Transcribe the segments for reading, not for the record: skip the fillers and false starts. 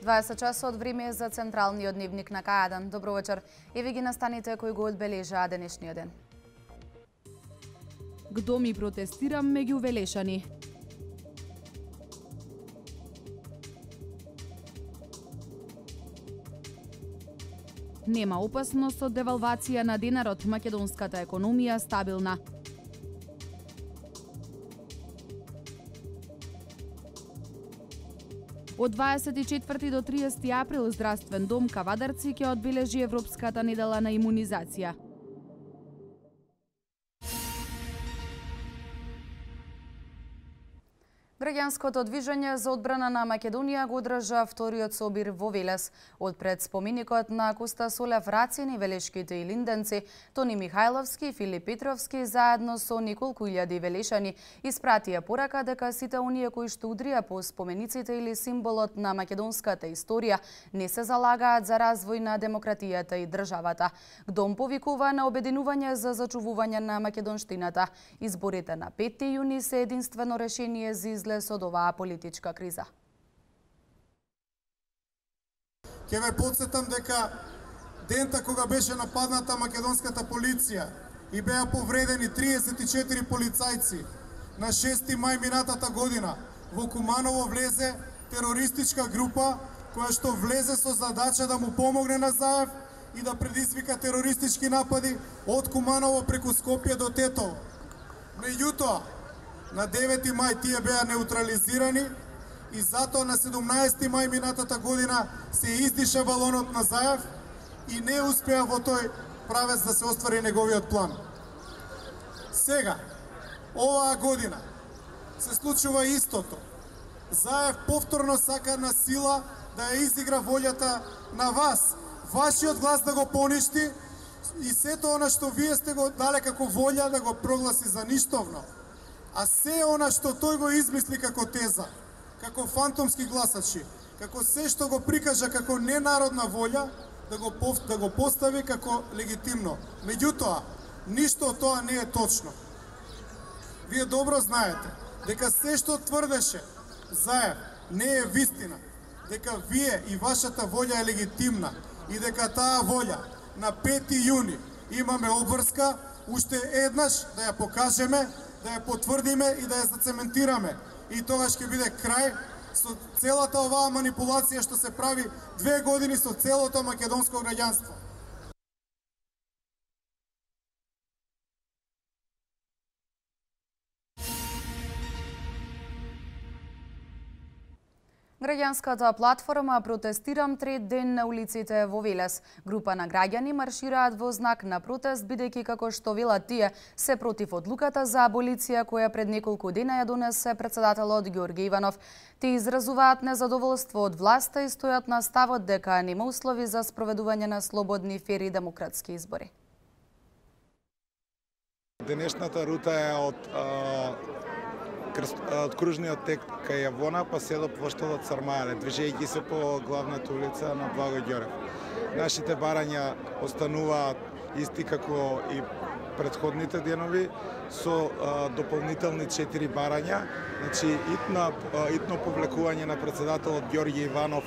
20 часот време за централниот дневник на К1. Добро вечер. Еве ги настаните кои го одбележаа денешниот ден. Кdo mi протестирам меѓу Велешани? Нема опасност од девалвација на денарот, македонската економија стабилна. Од 24 до 30 април Здравствен дом Кавадарци ќе одбележи Европската недела на имунизација. Граѓанското движење за одбрана на Македонија го одржа вториот собир во Велес. Од пред споменикот на Коста Солев Рацин и Велешките и Линденци, Тони Михајловски и Филип Петровски заедно со неколку илјади велешани испратија порака дека сите оние кои што удрија по спомениците или символот на македонската историја не се залагаат за развој на демократијата и државата. ГДОМ повикува на обединување за зачувување на македонштината. Изборите на 5 јуни се единствено решение за излез од оваа политичка криза. Ќе ве потсетам дека дента кога беше нападната македонската полиција и беа повредени 34 полицајци, на 6 мај минатата година во Куманово влезе терористичка група која што влезе со задача да му помогне на Заев и да предизвика терористички напади од Куманово преку Скопје до Тетово. Меѓутоа, на 9 мај тие беа неутрализирани и затоа на 17 мај минатата година се издиша балонот на Заев и не успеа во тој правец да се оствари неговиот план. Сега, оваа година, се случува истото. Заев повторно сака на сила да ја изигра волјата на вас, вашиот глас да го поништи и сето она што вие сте го дале како волја да го прогласи за ништовно. А се она што тој го измисли како теза, како фантомски гласачи, како се што го прикажа како ненародна волја, да го постави како легитимно. Меѓутоа, ништо од тоа не е точно. Вие добро знаете дека се што тврдеше Заев не е вистина, дека вие и вашата волја е легитимна и дека таа волја на 5 јуни имаме обврска, уште еднаш да ја покажеме, да ја потврдиме и да ја зацементираме. И тогаш ќе биде крај со целата оваа манипулација што се прави 2 години со целото македонско граѓанство. Граѓанската платформа Протестирам трет ден на улиците во Велес. Група на граѓани маршираат во знак на протест, бидејќи како што велат тие се против одлуката за аболиција која пред неколку дена ја донесе председателот Ѓорѓе Иванов. Те изразуваат незадоволство од власта и стојат на ставот дека нема услови за спроведување на слободни, фер и демократски избори. Денешната рута е од кружниот тек кај Јавона па се до поштовот Сармајле, движејќи се по главната улица на Благо Ѓорев. Нашите барања остануваат исти како и претходните денови со дополнителни 4 барања, значи итно повлекување на председателот Ѓорѓе Иванов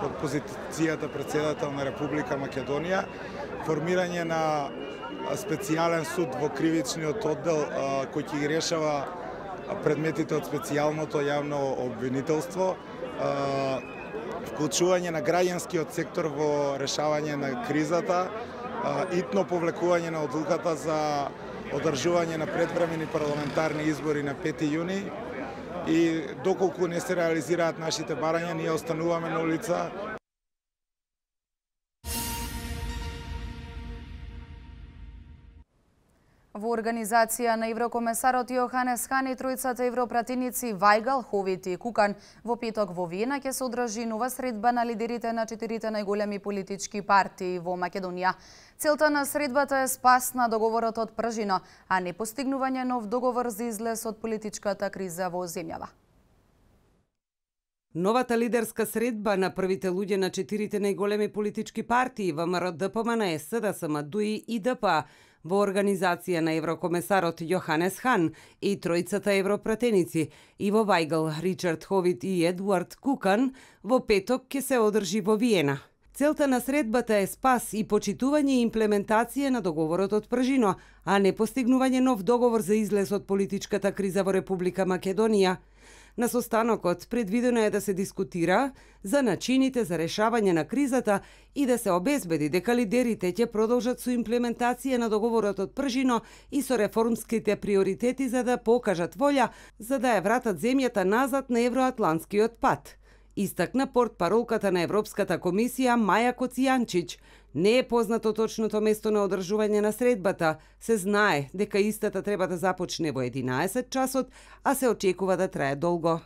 од позицијата председател на Република Македонија, формирање на специјален суд во кривичниот оддел кој ќе ги решава предметите од специјалното јавно обвинителство, вклучување на граѓанскиот сектор во решавање на кризата, итно повлекување на одлуката за одржување на предвремени парламентарни избори на 5 јуни и доколку не се реализираат нашите барања, ние остануваме на улица. Во организација на еврокомесарот Јоханес Хан и тројцата европратеници Вајгал, Ховит и Кукан, во петок во Виена ќе се одржи нова средба на лидерите на 4 најголеми политички партии во Македонија. Целта на средбата е спас на договорот од Пржино, а не постигнување нов договор за излез од политичката криза во земјава. Новата лидерска средба на првите луѓе на 4 најголеми политички партии ВМРО, ДПМН, СДСМ, ДУИ и ДП во организација на еврокомесарот Јоханес Хан и тројцата европратеници Иво Вајгл, Ричард Ховит и Едуард Кукан во петок ќе се одржи во Виена. Целта на средбата е спас и почитување и имплементација на договорот од Пржино, а не постигнување нов договор за излез од политичката криза во Република Македонија. На состанокот предвидено е да се дискутира за начините за решавање на кризата и да се обезбеди дека лидерите ќе продолжат со имплементација на договорот од Пржино и со реформските приоритети за да покажат волја за да ја вратат земјата назад на евроатлантскиот пат. Истакна портпаролката на Европската комисија Маја Коцијанчич. Не е познато точното место на одржување на средбата. Се знае дека истата треба да започне во 11 часот, а се очекува да трае долго.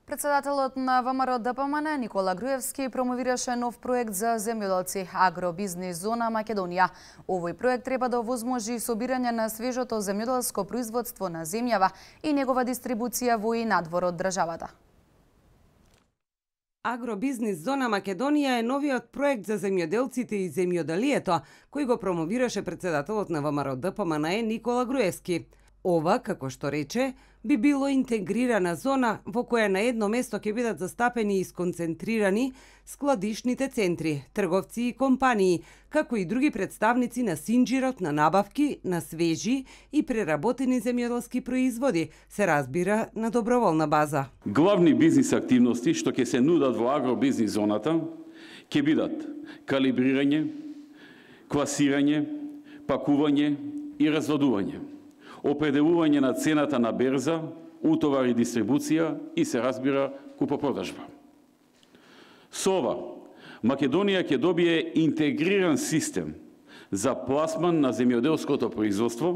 Председателот на ВМРО ДПМН Никола Груевски промовираше нов проект за земјоделци Агробизнис зона Македонија. Овој проект треба да овозможи собирање на свежото земјоделско производство на земјава и негова дистрибуција во и надвор од државата. Агробизнис зона Македонија е новиот проект за земјоделците и земјоделието, кој го промовираше председателот на ВМРО ДПМН Никола Груевски. Ова, како што рече, би било интегрирана зона во која на едно место ќе бидат застапени и сконцентрирани складишните центри, трговци и компании, како и други представници на синџирот на набавки на свежи и преработени земјоделски производи, се разбира на доброволна база. Главни бизнис активности што ќе се нудат во агробизнис зоната ќе бидат калибрирање, класирање, пакување и разводување, определување на цената на берза, утовар и дистрибуција и се разбира купопродажба. Со ова, Македонија ќе добие интегриран систем за пласман на земјоделското производство,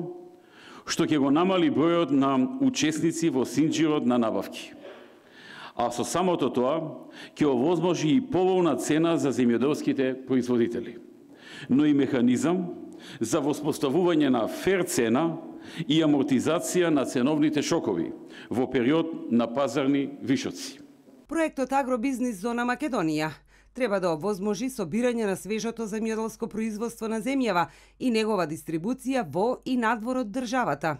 што ќе го намали бројот на учесници во синџирот на набавки. А со самото тоа ќе овозможи и поволна цена за земјоделските производители, но и механизам за воспоставување на фер цена и амортизација на ценовните шокови во период на пазарни вишоци. Проектот Агробизнис зона Македонија треба да овозможи собирање на свежото земјоделско производство на земјава и негова дистрибуција во и надвор од државата.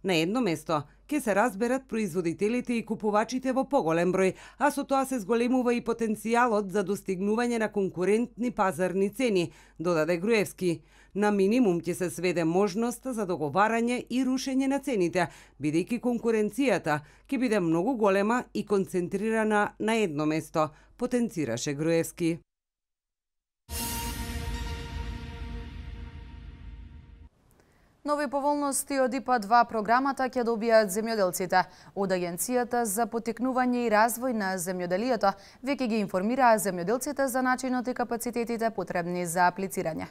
На едно место ќе се разберат производителите и купувачите во поголем број, а со тоа се зголемува и потенцијалот за достигнување на конкурентни пазарни цени, додаде Груевски. На минимум ќе се сведе можноста за договарање и рушење на цените, бидејќи конкуренцијата ќе биде многу голема и концентрирана на едно место, потенцираше Груевски. Нови поволности од ИПА-2 програмата ќе добијат земјоделците. Од Агенцијата за поттикнување и развој на земјоделието веќе ги информираа земјоделците за начинот и капацитетите потребни за аплицирање.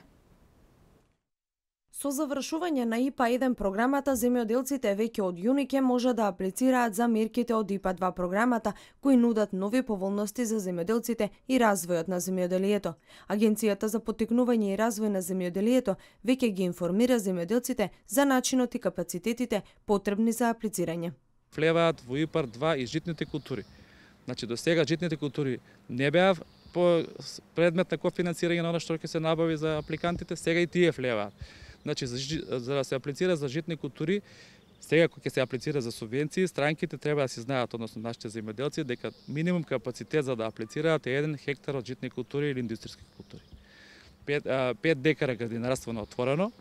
Со завршување на ИПА-1 програмата, земјоделците веќе од јуни ќе може да аплицираат за мерките од ИПА-2 програмата, кои нудат нови поволности за земјоделците и развојот на земјоделието. Агенцијата за поттикнување и развој на земјоделието веќе ги информира земјоделците за начинот и капацитетите потребни за аплицирање. Влеваат во ИПА-2 и житните култури. Значи, до сега житните култури не беа по предмет на кофинансирање на оно што ќе се набави за апликантите, сега и тие влеваат. Значи, за да се аплицира за житни култури, сега кога ќе се аплицира за субвенции, странките треба да си знаат, односно нашите земјоделци, дека минимум капацитет за да аплицираат е 1 хектар од житни култури или индустријски култури. 5 декара градинарство на отворено,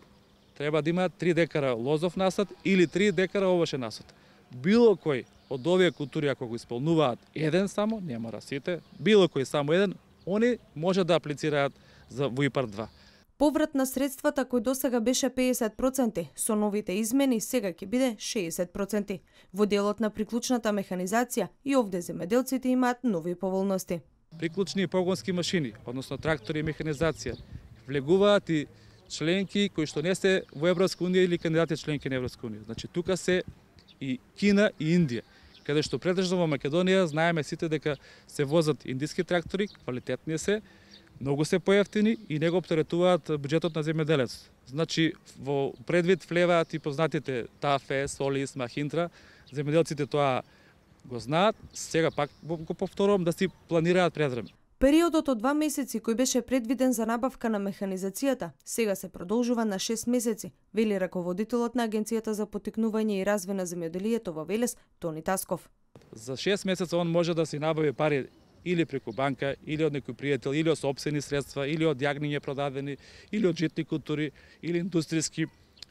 треба да имаат 3 декара лозов насад или 3 декара овошен насад. Било кој од овие култури, ако го исполнуваат еден само, не мора сите, било кој само еден, они може да аплицираат за во ИПА-2. Поврат на средствата кој досега беше 50%, со новите измени сега ќе биде 60%. Во делот на приклучната механизација и овде земјоделците имаат нови поволности. Приклучни и погонски машини, односно трактори и механизација, влегуваат и членки кои што не се во Европска унија или кандидати членки на Европска унија. Значи тука се и Кина и Индија, каде што претежно во Македонија знаеме сите дека се возат индиски трактори, квалитетни се, многу се поевтини и не го оптеретуваат буџетот на земјоделец. Значи, во предвид влеваат и познатите Тафе, Солис, Махинтра, земјоделците тоа го знаат, сега пак го повторувам да си планираат предвреме. Периодот од 2 месеци кој беше предвиден за набавка на механизацијата, сега се продолжува на 6 месеци, вели раководителот на Агенцијата за поттикнување и развој на земјоделието во Велес, Тони Тасков. За 6 месеца он може да си набави пари или преку банка, или од некој пријател, или од сопствени средства, или од јагниње продадени, или од житни култури, или индустријски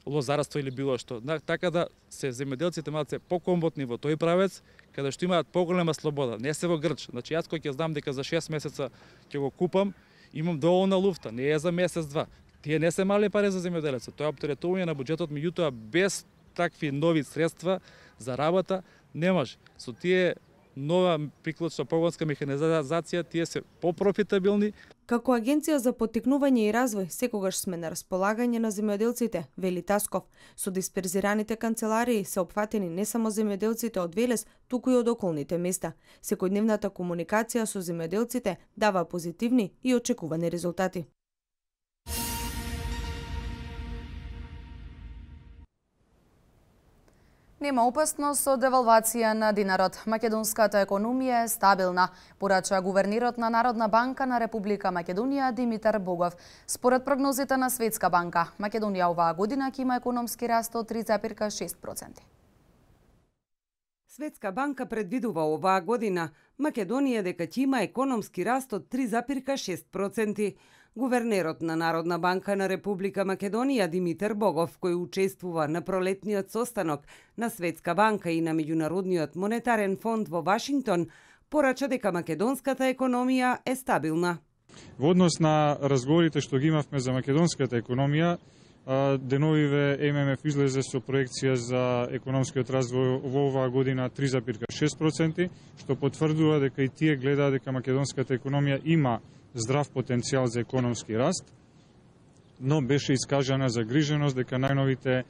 лозарство или било што. Така да се земјоделците малце покомботни во тој правец, каде што имаат поголема слобода, не се во грч. Значи јас кој ќе знам дека за 6 месеца ќе го купам, имам доволна луфта, не е за месец-два. Тие не се мали пари за земјоделецот. Тоа е оптеретување на буџетот, меѓутоа без такви нови средства за работа не може. Со тие нова приклучна погонска механизација, тие се попрофитабилни. Како Агенција за поттикнување и развој, секогаш сме на располагање на земјоделците, вели Тасков. Со дисперзираните канцеларии се опфатени не само земјоделците од Велес, туку и од околните места. Секојдневната комуникација со земјоделците дава позитивни и очекувани резултати. Нема опасност од девалвација на динарот. Македонската економија е стабилна, порача гувернерот на Народна банка на Република Македонија Димитар Богов. Според прогнозите на Светска банка, Македонија оваа година ќе има економски раст од 3,6%. Светска банка предвидува оваа година Македонија дека ќе има економски раст од 3,6%. Гувернерот на Народна банка на Република Македонија Димитар Богов, кој учествува на пролетниот состанок на Светска банка и на Меѓународниот монетарен фонд во Вашингтон, порача дека македонската економија е стабилна. Во однос на разговорите што ги имавме за македонската економија, деновиве ММФ излезе со проекција за економскиот развој во оваа година 3,6%, што потврдува дека и тие гледаат дека македонската економија има здрав потенцијал за економски раст, но беше искажана загриженост дека најновите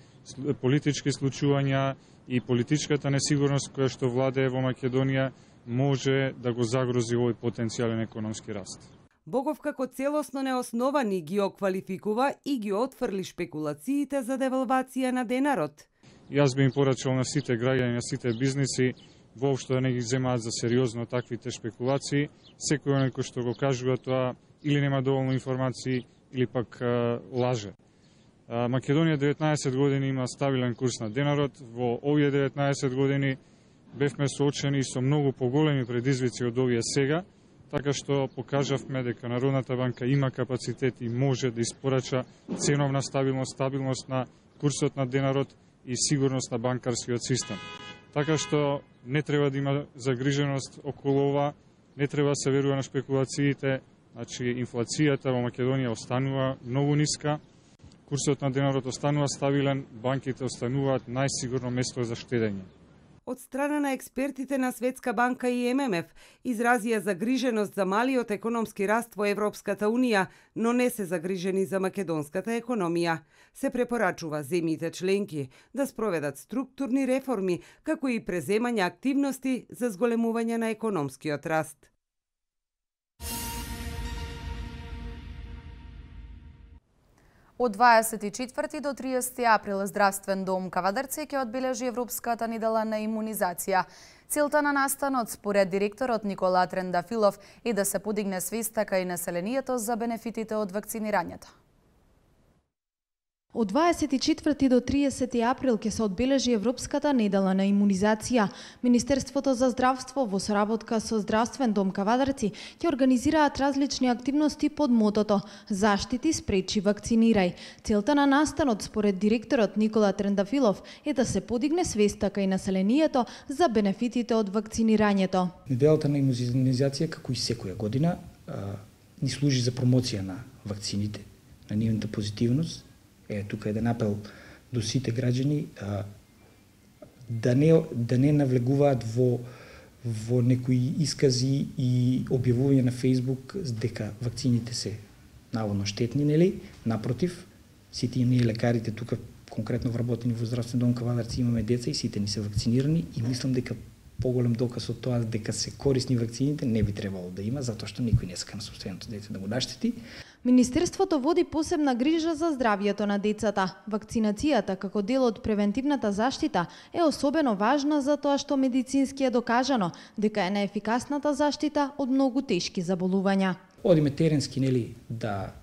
политички случувања и политичката несигурност која што владее во Македонија може да го загрози овој потенцијален економски раст. Богов како целосно неосновани ги оквалификува и ги отфрли шпекулациите за девалвација на денарот. Јас би им порачал на сите граѓани, на сите бизниси, воопшто да не ги земаат за сериозно таквите шпекулации. Секој оној кој што го кажува тоа или нема доволно информации или пак лаже. Македонија 19 години има стабилен курс на денарот. Во овие 19 години бевме соочени со многу поголеми предизвици од овие сега, така што покажавме дека Народната банка има капацитет и може да испорача ценовна стабилност, стабилност на курсот на денарот и сигурност на банкарскиот систем. Така што не треба да има загриженост околу ова, не треба да се верува на шпекулациите, значи инфлацијата во Македонија останува многу ниска, курсот на денарот останува стабилен, банките остануваат најсигурно место за штедење. Од страна на експертите на Светска банка и ММФ изразија загриженост за малиот економски раст во Европската Унија, но не се загрижени за македонската економија. Се препорачува земјите членки да спроведат структурни реформи, како и преземање активности за зголемување на економскиот раст. Од 24 до 30 април Здравствен дом Кавадарци ќе одбележи Европската недела на имунизација. Целта на настанот, според директорот Никола Трендафилов, е да се подигне свеста кај населението за бенефитите од вакцинирањето. Од 24 до 30 април ќе се одбележи Европската недела на имунизација. Министерството за здравство во соработка со Здравствен дом Кавадарци ќе организираат различни активности под мотото "Заштити, спречи, вакцинирај". Целта на настанот, според директорот Никола Трендафилов, е да се подигне свеста кај населението за бенефитите од вакцинирањето. Неделата на имунизација, како и секоја година, ни служи за промоција на вакцините, на нивната позитивност. Тука еден апел до сите граѓани да не навлегуваат во некои искази и објавување на Фејсбук дека вакцините се наводно штетни, нели? Напротив, сите ние лекарите тука конкретно вработени во Здравствен дом Кавадарци имаме деца и сите ни се вакцинирани и мислам дека поголем доказ од тоа дека се корисни вакцините не би требало да има, затоа што никој не сака на собственото дете да го наштети. Министерството води посебна грижа за здравјето на децата. Вакцинацијата како дел од превентивната заштита е особено важна за тоа што медицински е докажано дека е најефикасната заштита од многу тешки заболувања. Одиме теренски, нели, да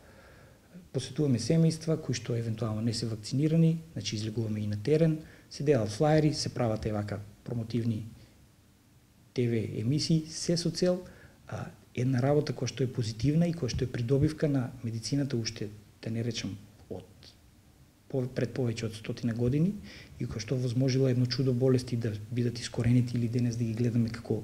посетуваме семејства кои што евентуално не се вакцинирани, значи излегуваме и на терен, се делат флаери, се прават вака промотивни ТВ емисии, се со цел една работа која што е позитивна и која што е придобивка на медицината уште, да не речам, пред повеќе од 100 години и која што возможила едно чудо болести да бидат искоренети или денес да ги гледаме како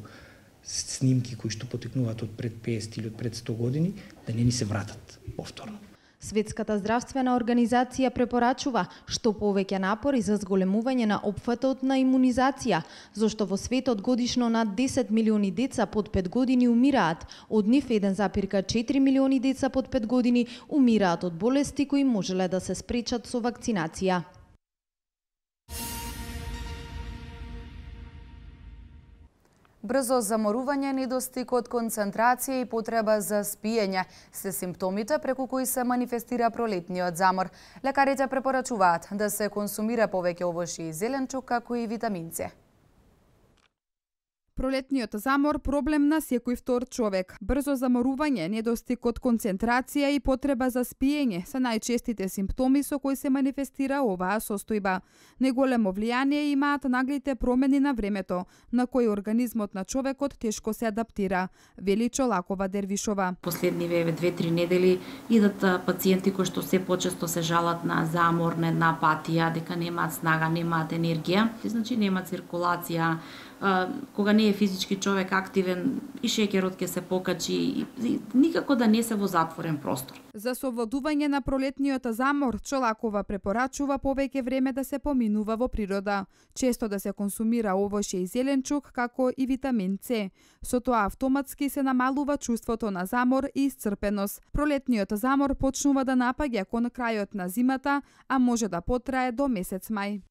снимки кои што потекнуваат од пред 50 или од пред 100 години, да не ни се вратат повторно. Светската здравствена организација препорачува што повеќе напори за зголемување на опфатот на имунизација, зашто во светот годишно над 10 милиони деца под 5 години умираат, од нив 1,4 милиони деца под 5 години умираат од болести кои можеле да се спречат со вакцинација. Брзо заморување, недостиг од концентрација и потреба за спиење се симптомите преку кои се манифестира пролетниот замор. Лекарите препорачуваат да се консумира повеќе овошје и зеленчук, како и витамин С. Пролетниот замор проблем на секој втор човек. Брзо заморување, недостиг од концентрација и потреба за спиење се најчестите симптоми со кои се манифестира оваа состојба. Неголемо влијание имаат наглите промени на времето, на кои организмот на човекот тешко се адаптира, вели Чолакова Дервишова. Последниве 2-3 недели идат пациенти кои што се почесто се жалат на замор, на една апатија, дека немаат снага, немаат енергија, значи нема циркулација. Кога не е физички човек активен, и шеќерот ќе се покачи, и никако да не се во затворен простор. За совладување на пролетниот замор, Чолакова препорачува повеќе време да се поминува во природа, често да се консумира овошје и зеленчук, како и витамин С. Со тоа автоматски се намалува чувството на замор и исцрпеност. Пролетниот замор почнува да напаѓа кон крајот на зимата, а може да потрае до месец мај.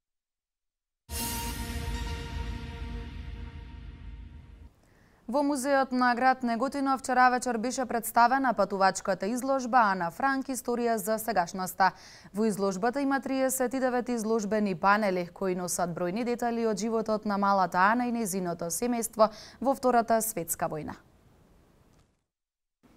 Во музеот на град Неготино вчера вечер беше представена патувачката изложба Ана Франк историја за сегашноста. Во изложбата има 39 изложбени панели кои носат бројни детали од животот на малата Ана и нејзиното семејство во Втората светска војна.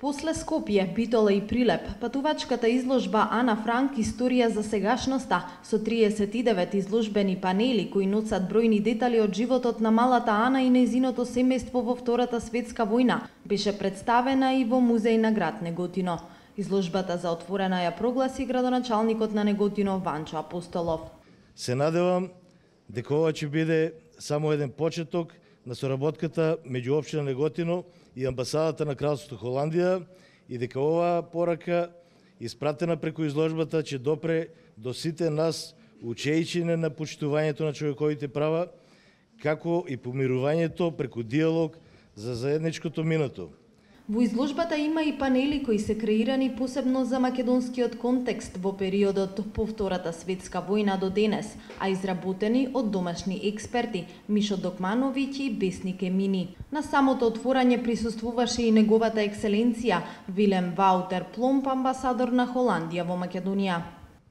После Скопје, Битола и Прилеп, патувачката изложба Ана Франк историја за сегашноста со 39 изложбени панели кои носат бројни детали од животот на малата Ана и нејзиното семејство во Втората светска војна беше представена и во музеј на град Неготино. Изложбата за отворена ја прогласи градоначалникот на Неготино Ванчо Апостолов. Се надевам дека ова ќе биде само еден почеток на соработката меѓу општина Неготино и амбасадата на Кралството Холандија и дека оваа порака испратена преку изложбата ќе допре до сите нас учејчине на почитувањето на човековите права, како и помирувањето преку диалог за заедничкото минато. Во изложбата има и панели кои се креирани посебно за македонскиот контекст во периодот по Втората светска војна до денес, а изработени од домашни експерти Мишо Докмановиќ и Бесник Емини. На самото отворање присуствуваше и неговата екселенција Вилем Ваутер Пломп, амбасадор на Холандија во Македонија.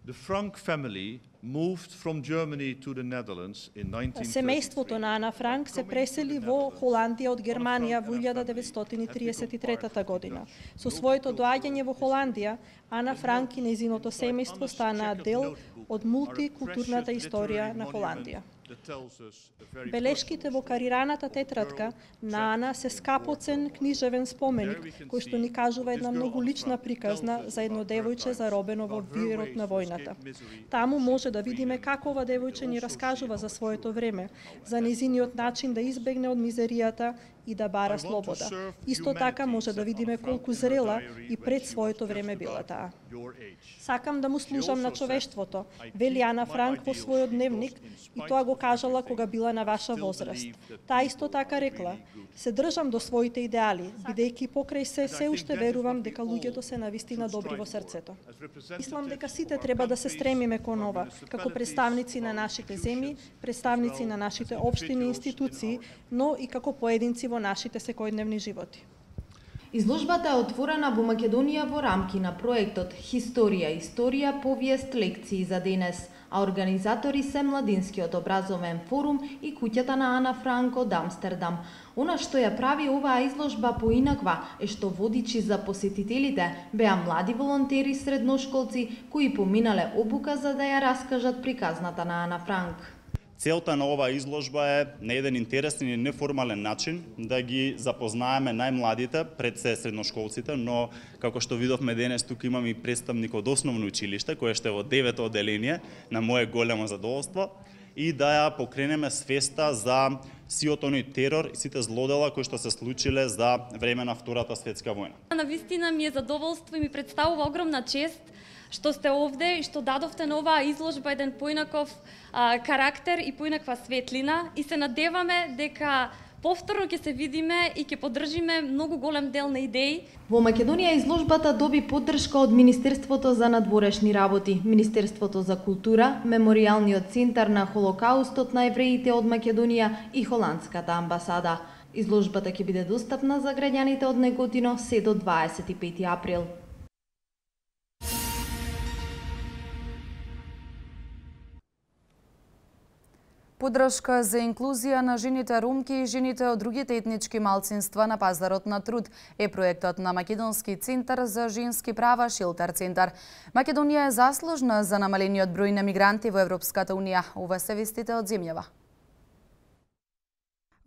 The Frank family moved from Germany to the Netherlands in 1933. Семејството на Ана Франк се пресели во Холандија од Германија во 1933 година. Со своето доаѓање во Холандија, Ана Франк и нејзиното семејство станаа дел од мултикултурната историја на Холандија. Белешките во карираната тетрадка на Ана се скапоцен книжевен споменик, кој што ни кажува една многу лична приказна за едно девојче заробено во вирот на војната. Таму може да видиме како ова девојче ни раскажува за своето време, за нејзиниот начин да избегне од мизеријата и да бара слобода. Исто така може да видиме колку зрела и пред своето време била таа. Сакам да му служам на човештвото, вели Ана Франк во својот дневник, и тоа го кажала кога била на ваша возраст. Таа исто така рекла: се држам до своите идеали, бидејќи покрај се уште верувам дека луѓето се навистина добри во срцето. Мислам дека сите треба да се стремиме кон ова, како представници на нашите земји, представници на нашите општини и институции, но и како поединци во нашите секојдневни животи. Изложбата е отворена во Македонија во рамки на проектот Историја, повиест, лекции за денес, а организатори се Младинскиот образовен форум и куќата на Ана Франк од Амстердам. Она што ја прави оваа изложба поинаква е што водичи за посетителите беа млади волонтери средношколци кои поминале обука за да ја раскажат приказната на Ана Франк. Целта на оваа изложба е на еден интересен и неформален начин да ги запознаеме најмладите, пред се средношколците, но како што видовме денес, тука имаме и представник од основно училиште, кој што е во 9-то одделение, на мое големо задоволство, и да ја покренеме свеста за сиот оној терор и сите злодела кои што се случиле за време на Втората светска војна. Навистина ми е задоволство и ми представува огромна чест што сте овде и што дадовте на оваа изложба еден поинаков карактер и поинаква светлина, и се надеваме дека повторно ќе се видиме и ќе поддржиме многу голем дел на идеи. Во Македонија изложбата доби поддршка од Министерството за надворешни работи, Министерството за култура, Меморијалниот центар на Холокаустот на евреите од Македонија и Холандската амбасада. Изложбата ќе биде достапна за граѓаните од Неготино се до 25 април. Поддршка за инклузија на жените ромки и жените од другите етнички малцинства на пазарот на труд е проектот на Македонски центар за женски права Шилтер центар. Македонија е заслужна за намалениот број на мигранти во Европската унија. Ова се вестите од земјава.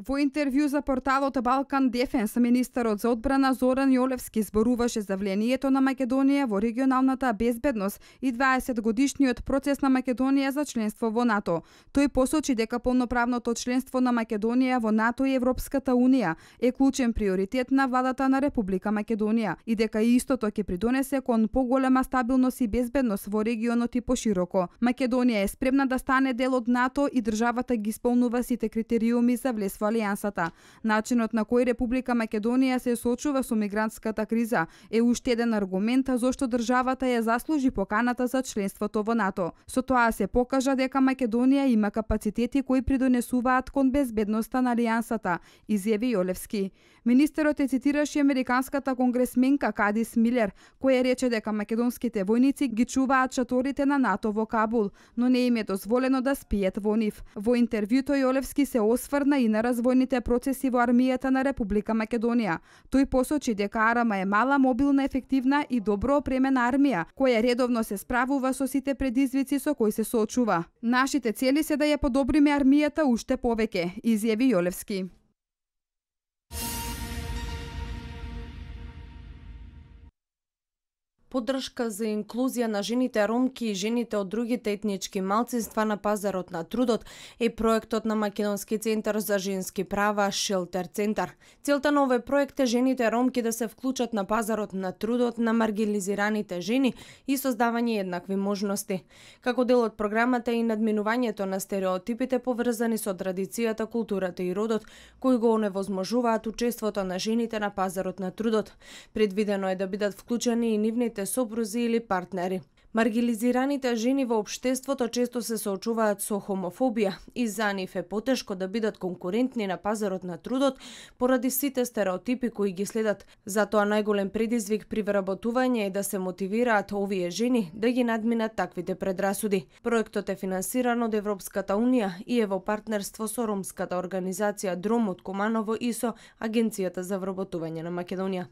Во интервју за порталот Балкан Дефенс, министерот за одбрана Зоран Јолевски зборуваше за влијанието на Македонија во регионалната безбедност и 20-годишниот процес на Македонија за членство во НАТО. Тој посочи дека полноправното членство на Македонија во НАТО и Европската унија е клучен приоритет на владата на Република Македонија и дека истото ќе придонесе кон поголема стабилност и безбедност во регионот и пошироко. Македонија е спремна да стане дел од НАТО и државата ги исполнува сите критериуми за влез во Алијансата. Начинот на кој Република Македонија се соочува со мигрантската криза е уште еден аргумент зошто државата ја заслужи поканата за членството во НАТО. Со тоа се покажа дека Македонија има капацитети кои придонесуваат кон безбедноста на Алијансата, изјави Јолевски. Министерот е цитираше американската конгресменка Кадис Милер, која рече дека македонските војници ги чуваат шаторите на НАТО во Кабул, но не им е дозволено да спијат во нив. Во интервјуто Јолевски се осврна и на развојните процеси во армијата на Република Македонија. Тој посочи дека Арама е мала, мобилна, ефективна и добро опремена армија, која редовно се справува со сите предизвици со кои се соочува. Нашите цели се да ја подобриме армијата уште повеќе, изјави Јолевски. Поддршка за инклузија на жените ромки и жените од другите етнички малцинства на пазарот на трудот е проектот на Македонски центар за женски права Шилтер центар. Целта на овој проект е жените ромки да се вклучат на пазарот на трудот на маргинализираните жени и создавање еднакви можности. Како дел од програмата и надминувањето на стереотипите поврзани со традицијата, културата и родот, кои го оневозможуваат учеството на жените на пазарот на трудот. Предвидено е да бидат вклучени и нивните сопрузи или партнери. Маргинализираните жени во општеството често се соочуваат со хомофобија и за нив е потешко да бидат конкурентни на пазарот на трудот поради сите стереотипи кои ги следат. Затоа најголем предизвик при вработување е да се мотивираат овие жени да ги надминат таквите предрасуди. Проектот е финансиран од Европската унија и е во партнерство со ромската организација Дром од Куманово и со Агенцијата за вработување на Македонија.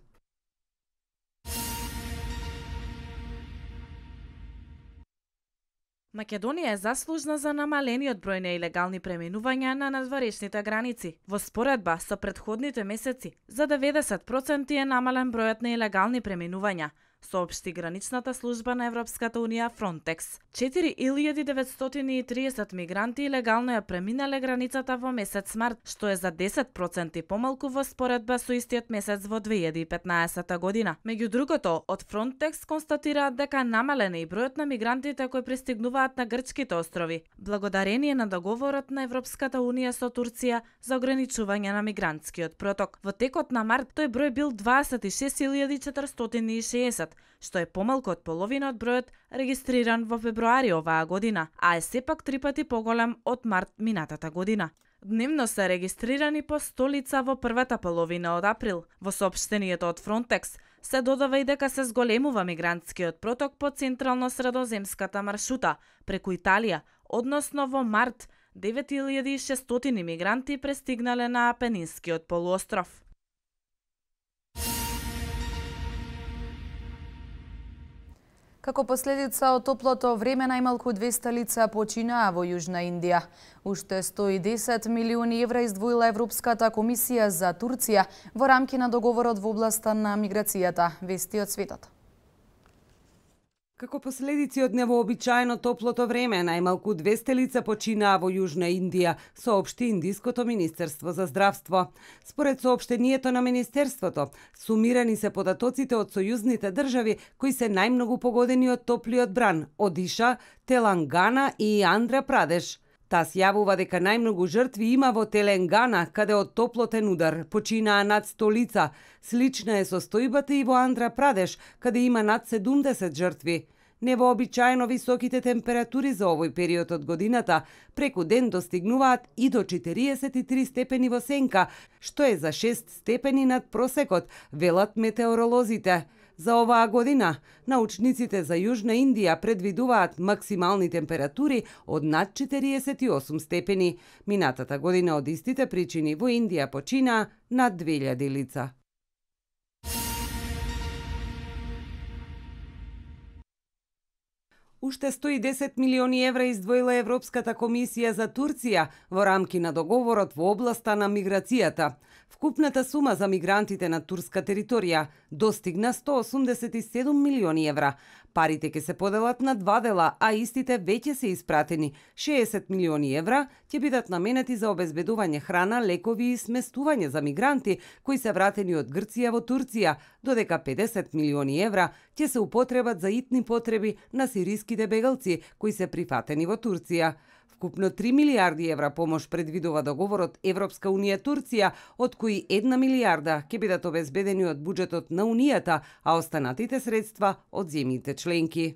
Македонија е заслужна за намалениот број на илегални преминувања на надворешните граници. Во споредба со претходните месеци, за 90% е намален бројот на илегални преминувања. соопшти граничната служба на Европската унија Frontex. 4930 мигранти легално ја преминале границата во месец март, што е за 10% помалку во споредба со истиот месец во 2015 година. Меѓу другото, од Frontex констатираат дека намален е и бројот на мигрантите кои пристигнуваат на грчките острови, благодарение на договорот на Европската унија со Турција за ограничување на мигрантскиот проток. Во текот на март тој број бил 26.460, што е помалку од половина од бројот регистриран во февруари оваа година, а е сепак 3 пати поголем од март минатата година. Дневно се регистрирани по 100 лица во првата половина од април. Во соопштението од Frontex се додава и дека се зголемува мигрантскиот проток по централно-средоземската маршрута преку Италија, односно во март 9600 мигранти пристигнале на Апенинскиот полуостров. Како последица од топлото време, најмалку 200 лица починаа во Јужна Индија. Уште 110 милиони евра издвоила Европската комисија за Турција во рамки на договорот во областа на миграцијата, вести од светот. Како последици од невообичаено топлото време, најмалку 200 лица починаа во Јужна Индија, соопшти Индиското министерство за здравство. Според соопштението на министерството, сумирани се податоците од сојузните држави кои се најмногу погодени од топлиот бран: Одиша, Телангана и Андра Прадеш. Тас јавува дека најмногу жртви има во Теленгана, каде од топлотен удар починаа над 100 лица. Слична е состојбата и во Андра Прадеш, каде има над 70 жртви. Невообичаено високите температури за овој период од годината преку ден достигнуваат и до 43 степени во сенка, што е за 6 степени над просекот, велат метеоролозите. За оваа година, научниците за Јужна Индија предвидуваат максимални температури од над 48 степени. Минатата година од истите причини во Индија починаа над 2000 лица. Уште 110 милиони евра издвоила Европската комисија за Турција во рамки на договорот во областа на миграцијата. Вкупната сума за мигрантите на турска територија достигна 187 милиони евра. Парите ќе се поделат на два дела, а истите веќе се испратени. 60 милиони евра ќе бидат наменети за обезбедување храна, лекови и сместување за мигранти кои се вратени од Грција во Турција, додека 50 милиони евра ќе се употребат за итни потреби на сириските бегалци кои се прифатени во Турција. Вкупно 3 милиарди евра помош предвидува договорот Европска унија Турција, од кои 1 милиарда ќе бидат обезбедени од буџетот на Унијата, а останатите средства од земјите членки.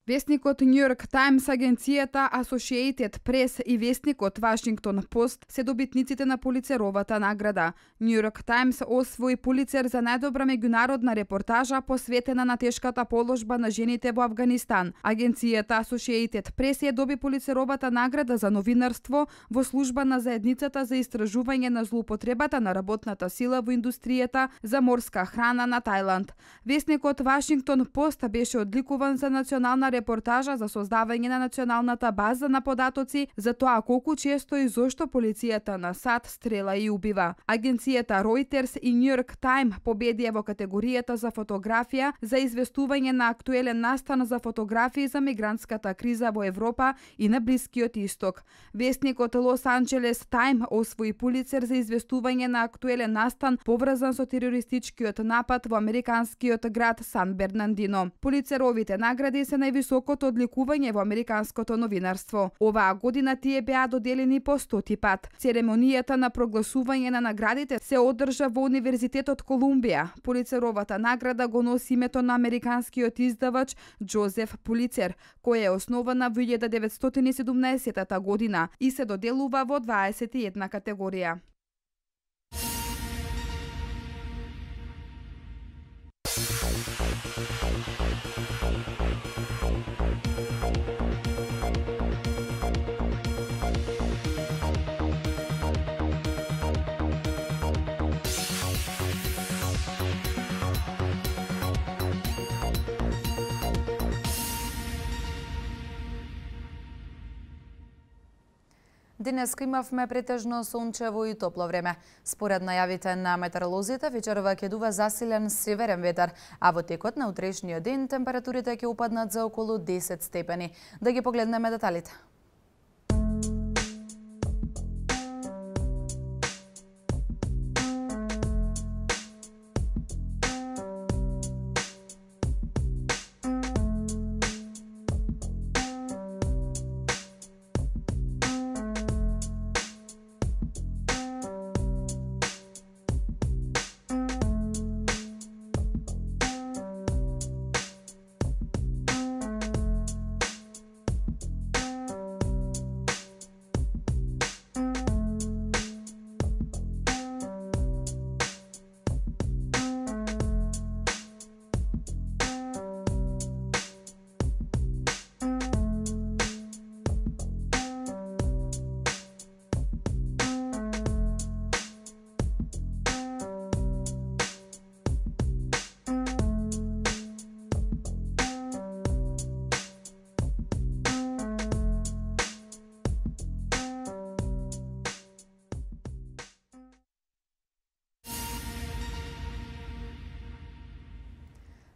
Весникот Нью Йорк Таймс, агенцијата Associated Press и весникот Вашингтон Пост се добитниците на Пулицеровата награда. Нью Йорк Таймс освои Пулицер за најдобра меѓународна репортажа посветена на тешката положба на жените во Авганистан. Агенцијата Associated Press ја доби Пулицеровата награда за новинарство во служба на заедницата за истражување на злоупотребата на работната сила во индустријата за морска храна на Тајланд. Весникот Вашингтон Пост беше одликуван за национална репортажа за создавање на националната база на податоци за тоа колку често и зошто полицијата на САД стрела и убива. Агенцијата Reuters и New York Times победија во категоријата за фотографија за известување на актуелен настан за фотографии за мигрантската криза во Европа и на Блискиот Исток. Весникот Лос Анџелес Тайм освои Пулицер за известување на актуелен настан поврзан со терористичкиот напад во американскиот град Сан Бернардино. Пулицеровите награди се највисокото одликување во американското новинарство. Оваа година тие беа доделени по 100 пат. Церемонијата на прогласување на наградите се одржа во Универзитетот Колумбија. Пулицеровата награда го носи името на американскиот издавач Џозеф Пулицер, која е основана во 1917 година и се доделува во 21 категорија. Денеска имавме претежно сончево и топло време. Според најавите на метеоролозите, вечерва ќе дува засилен северен ветар, а во текот на утрешниот ден температурите ќе упаднат за околу 10 степени. Да ги погледнеме деталите.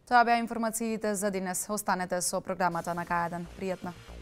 Тоа беа информациите за денес. Останете со програмата на К1. Пријатно!